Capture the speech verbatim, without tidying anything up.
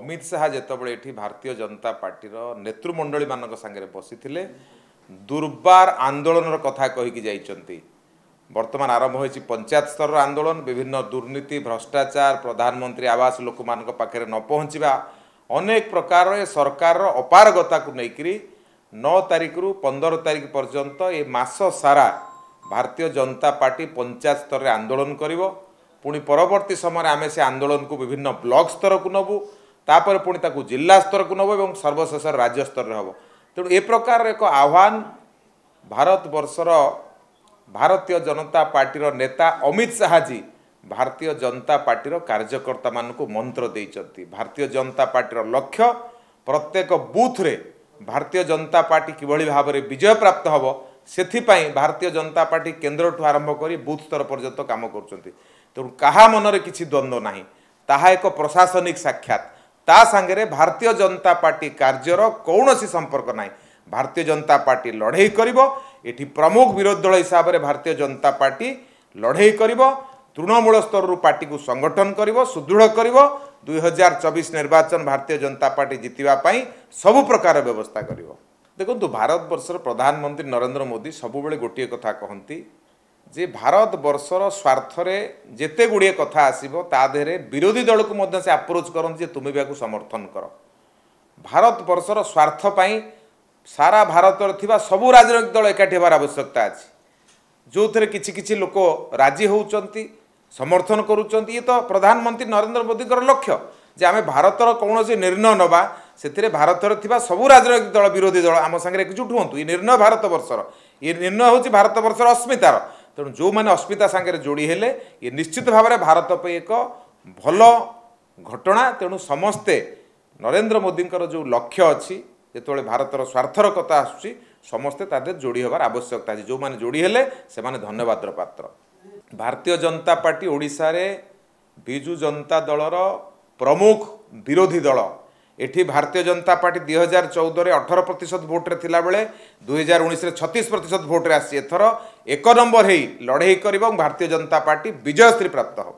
ଅମିତ ଶାହା ଯେତେବେଳେ ଏଠି ଭାରତୀୟ ଜନତା ପାର୍ଟିର ନେତୃମଣ୍ଡଳୀମାନଙ୍କ ସାଙ୍ଗରେ ବସିଥିଲେ, ଦୁର୍ବାର ଆନ୍ଦୋଳନର କଥା କହିକି ଯାଇଛନ୍ତି। ବର୍ତ୍ତମାନ ଆରମ୍ଭ ହୋଇଛି ପଞ୍ଚାୟତ ସ୍ତରର ଆନ୍ଦୋଳନ। ବିଭିନ୍ନ ଦୁର୍ନୀତି, ଭ୍ରଷ୍ଟାଚାର, ପ୍ରଧାନମନ୍ତ୍ରୀ ଆବାସ ଲୋକମାନଙ୍କ ପାଖରେ ନ ପହଞ୍ଚିବା, ଅନେକ ପ୍ରକାର ଏ ସରକାରର ଅପାରଗତାକୁ ନେଇକରି ନଅ ତାରିଖରୁ ପନ୍ଦର ତାରିଖ ପର୍ଯ୍ୟନ୍ତ ଏ ମାସ ସାରା ଭାରତୀୟ ଜନତା ପାର୍ଟି ପଞ୍ଚାୟତ ସ୍ତରରେ ଆନ୍ଦୋଳନ କରିବ। ପୁଣି ପରବର୍ତ୍ତୀ ସମୟରେ ଆମେ ସେ ଆନ୍ଦୋଳନକୁ ବିଭିନ୍ନ ବ୍ଲକ ସ୍ତରକୁ ନେବୁ, ତାପରେ ପୁଣି ତାକୁ ଜିଲ୍ଲା ସ୍ତରକୁ ନେବୁ ଏବଂ ସର୍ବଶେଷରେ ରାଜ୍ୟ ସ୍ତରରେ ହେବ। ତେଣୁ ଏ ପ୍ରକାରର ଏକ ଆହ୍ୱାନ ଭାରତବର୍ଷର ଭାରତୀୟ ଜନତା ପାର୍ଟିର ନେତା ଅମିତ ଶାହାଜୀ ଭାରତୀୟ ଜନତା ପାର୍ଟିର କାର୍ଯ୍ୟକର୍ତ୍ତାମାନଙ୍କୁ ମନ୍ତ୍ର ଦେଇଛନ୍ତି। ଭାରତୀୟ ଜନତା ପାର୍ଟିର ଲକ୍ଷ୍ୟ ପ୍ରତ୍ୟେକ ବୁଥରେ ଭାରତୀୟ ଜନତା ପାର୍ଟି କିଭଳି ଭାବରେ ବିଜୟ ପ୍ରାପ୍ତ ହେବ, ସେଥିପାଇଁ ଭାରତୀୟ ଜନତା ପାର୍ଟି କେନ୍ଦ୍ରଠୁ ଆରମ୍ଭ କରି ବୁଥ ସ୍ତର ପର୍ଯ୍ୟନ୍ତ କାମ କରୁଛନ୍ତି। ତେଣୁ କାହା ମନରେ କିଛି ଦ୍ୱନ୍ଦ୍ୱ ନାହିଁ, ତାହା ଏକ ପ୍ରଶାସନିକ ସାକ୍ଷାତ, ତା ସାଙ୍ଗରେ ଭାରତୀୟ ଜନତା ପାର୍ଟି କାର୍ଯ୍ୟର କୌଣସି ସମ୍ପର୍କ ନାହିଁ। ଭାରତୀୟ ଜନତା ପାର୍ଟି ଲଢ଼େଇ କରିବ। ଏଠି ପ୍ରମୁଖ ବିରୋଧୀ ଦଳ ହିସାବରେ ଭାରତୀୟ ଜନତା ପାର୍ଟି ଲଢ଼େଇ କରିବ, ତୃଣମୂଳ ସ୍ତରରୁ ପାର୍ଟିକୁ ସଂଗଠନ କରିବ, ସୁଦୃଢ଼ କରିବ। ଦୁଇ ହଜାର ଚବିଶ ନିର୍ବାଚନ ଭାରତୀୟ ଜନତା ପାର୍ଟି ଜିତିବା ପାଇଁ ସବୁ ପ୍ରକାର ବ୍ୟବସ୍ଥା କରିବ। ଦେଖନ୍ତୁ, ଭାରତବର୍ଷର ପ୍ରଧାନମନ୍ତ୍ରୀ ନରେନ୍ଦ୍ର ମୋଦି ସବୁବେଳେ ଗୋଟିଏ କଥା କହନ୍ତି ଯେ ଭାରତବର୍ଷର ସ୍ୱାର୍ଥରେ ଯେତେ ଗୁଡ଼ିଏ କଥା ଆସିବ, ତା ଦେହରେ ବିରୋଧୀ ଦଳକୁ ମଧ୍ୟ ସେ ଆପ୍ରୋଚ୍ କରନ୍ତି ଯେ ତୁମେ ବି ଏହାକୁ ସମର୍ଥନ କର। ଭାରତବର୍ଷର ସ୍ୱାର୍ଥ ପାଇଁ ସାରା ଭାରତରେ ଥିବା ସବୁ ରାଜନୈତିକ ଦଳ ଏକାଠି ହେବାର ଆବଶ୍ୟକତା ଅଛି, ଯେଉଁଥିରେ କିଛି କିଛି ଲୋକ ରାଜି ହେଉଛନ୍ତି, ସମର୍ଥନ କରୁଛନ୍ତି। ଇଏ ତ ପ୍ରଧାନମନ୍ତ୍ରୀ ନରେନ୍ଦ୍ର ମୋଦିଙ୍କର ଲକ୍ଷ୍ୟ ଯେ ଆମେ ଭାରତର କୌଣସି ନିର୍ଣ୍ଣୟ ନେବା, ସେଥିରେ ଭାରତରେ ଥିବା ସବୁ ରାଜନୈତିକ ଦଳ, ବିରୋଧୀ ଦଳ ଆମ ସାଙ୍ଗରେ ଏକଜୁଟ ହୁଅନ୍ତୁ। ଏ ନିର୍ଣ୍ଣୟ ଭାରତବର୍ଷର, ଏ ନିର୍ଣ୍ଣୟ ହେଉଛି ଭାରତବର୍ଷର ଅସ୍ମିତାର। ତେଣୁ ଯେଉଁମାନେ ଅସ୍ମିତା ସାଙ୍ଗରେ ଯୋଡ଼ି ହେଲେ, ଇଏ ନିଶ୍ଚିତ ଭାବରେ ଭାରତ ପାଇଁ ଏକ ଭଲ ଘଟଣା। ତେଣୁ ସମସ୍ତେ ନରେନ୍ଦ୍ର ମୋଦିଙ୍କର ଯେଉଁ ଲକ୍ଷ୍ୟ ଅଛି, ଯେତେବେଳେ ଭାରତର ସ୍ୱାର୍ଥର କଥା ଆସୁଛି, ସମସ୍ତେ ତା ଦେହରେ ଯୋଡ଼ି ହେବାର ଆବଶ୍ୟକତା ଅଛି। ଯେଉଁମାନେ ଯୋଡ଼ି ହେଲେ ସେମାନେ ଧନ୍ୟବାଦର ପାତ୍ର। ଭାରତୀୟ ଜନତା ପାର୍ଟି ଓଡ଼ିଶାରେ ବିଜୁ ଜନତା ଦଳର ପ୍ରମୁଖ ବିରୋଧୀ ଦଳ। ଏଠି ଭାରତୀୟ ଜନତା ପାର୍ଟି ଦୁଇ ହଜାର ଚଉଦରେ ଅଠର ପ୍ରତିଶତ ଭୋଟରେ ଥିଲାବେଳେ ଦୁଇ ହଜାର ଉଣେଇଶରେ ଛତିଶ ପ୍ରତିଶତ ଭୋଟରେ ଆସିଛି। ଏଥର ଏକ ନମ୍ବର ହେଇ ଲଢ଼େଇ କରିବ ଏବଂ ଭାରତୀୟ ଜନତା ପାର୍ଟି ବିଜୟଶ୍ରୀ ପ୍ରାପ୍ତ ହେବ।